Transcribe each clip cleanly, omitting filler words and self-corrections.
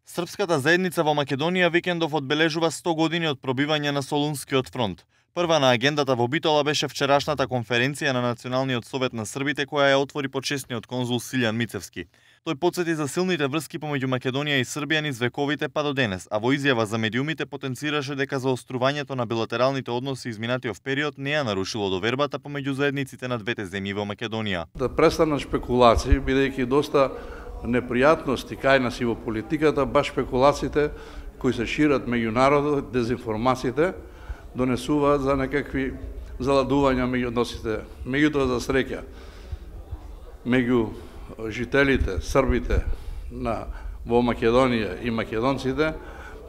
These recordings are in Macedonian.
Српската заедница во Македонија викендов одбележува 100 години од пробивање на Солунскиот фронт. Прва на агендата во Битола беше вчерашната конференција на Националниот совет на србите која ја отвори почесниот конзул Силјан Мицевски. Тој потсети за силните врски помеѓу Македонија и Србија низ вековите па до денес, а во изјава за медиумите потенцираше дека заострувањето на билатералните односи изминатиот период не ја нарушило довербата помеѓу заедниците на двете земји во Македонија. Да престанат спекулации, бидејќи доста непријатности кај нас и во политиката, баш спекулациите кои се шират меѓу народот, дезинформациите, донесуваат за некакви заладувања меѓу односите. Меѓутоа, за среќа, меѓу жителите, србите во Македонија и македонците,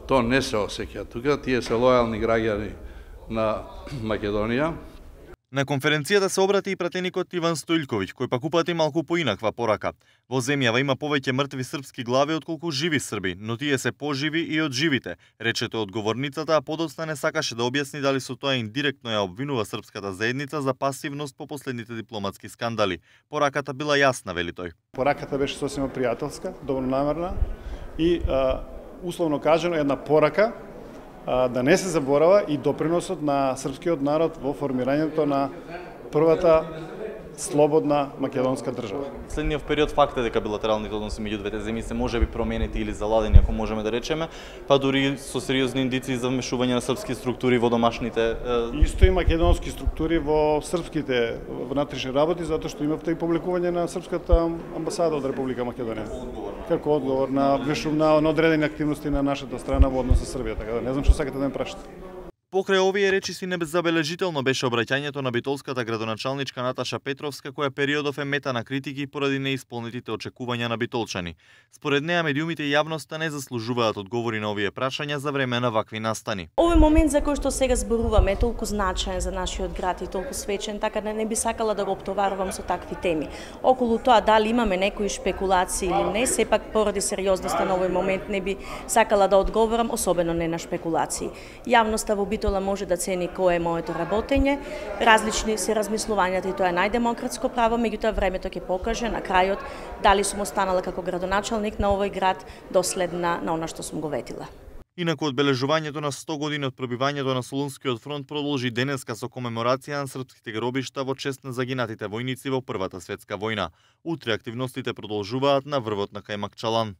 то не се осеќа. Тука тие се лојални граѓани на Македонија. На конференцијата се обрати и пратеникот Иван Стојлковиќ, кој пак упати малку поинаква порака. Во земјава има повеќе мртви српски глави отколку живи срби, но тие се поживи и од живите, рече тој одговорницата, а подоцна не сакаше да објасни дали со тоа индиректно ја обвинува српската заедница за пасивност по последните дипломатски скандали. Пораката била јасна, вели тој. Пораката беше сосема пријателска, добронамерна и условно кажано една порака да не се заборава и доприносот на српскиот народ во формирањето на првата слободна македонска држава. Следниот период факт е дека билатералните односи меѓу двете земји се можеби променети или заладени, ако можеме да речеме, па дури со сериозни индици за вмешување на српски структури во домашните. Исто и македонски структури во српските внатрешни работи, затоа што имавте и публикување на српската амбасада од Република Македонија. Како одговор на одредени активности на нашата страна во однос со Србија, така да не знам што сакате да ме прашате. Покрај овие речиси небезабележително беше обраќањето на битолската градоначалничка Наташа Петровска, која периодов е мета на критики поради неисполнетите очекувања на битолчани. Според неа медиумите и јавноста не заслужуваат одговори на овие прашања за време на вакви настани. Овој момент за кој што сега зборуваме е толку значаен за нашиот град и толку свечен, така да не би сакала да го оптоварувам со такви теми. Околу тоа дали имаме некои шпекулации или не, сепак поради сериозноста на овој момент не би сакала да одговорам, особено не на шпекулации. Јавноста во Битола може да цени кое е моето работење, различни се размислувањата и тоа е најдемократско право, меѓутоа времето ќе покаже на крајот дали сум останала како градоначалник на овој град доследна на она што сум го ветила. Инаку одбележувањето на 100 години од пробивањето на Солунскиот фронт продолжи денеска со комеморација на српските гробишта во чест на загинатите војници во Првата светска војна. Утре активностите продолжуваат на врвот на Кајмакчалан.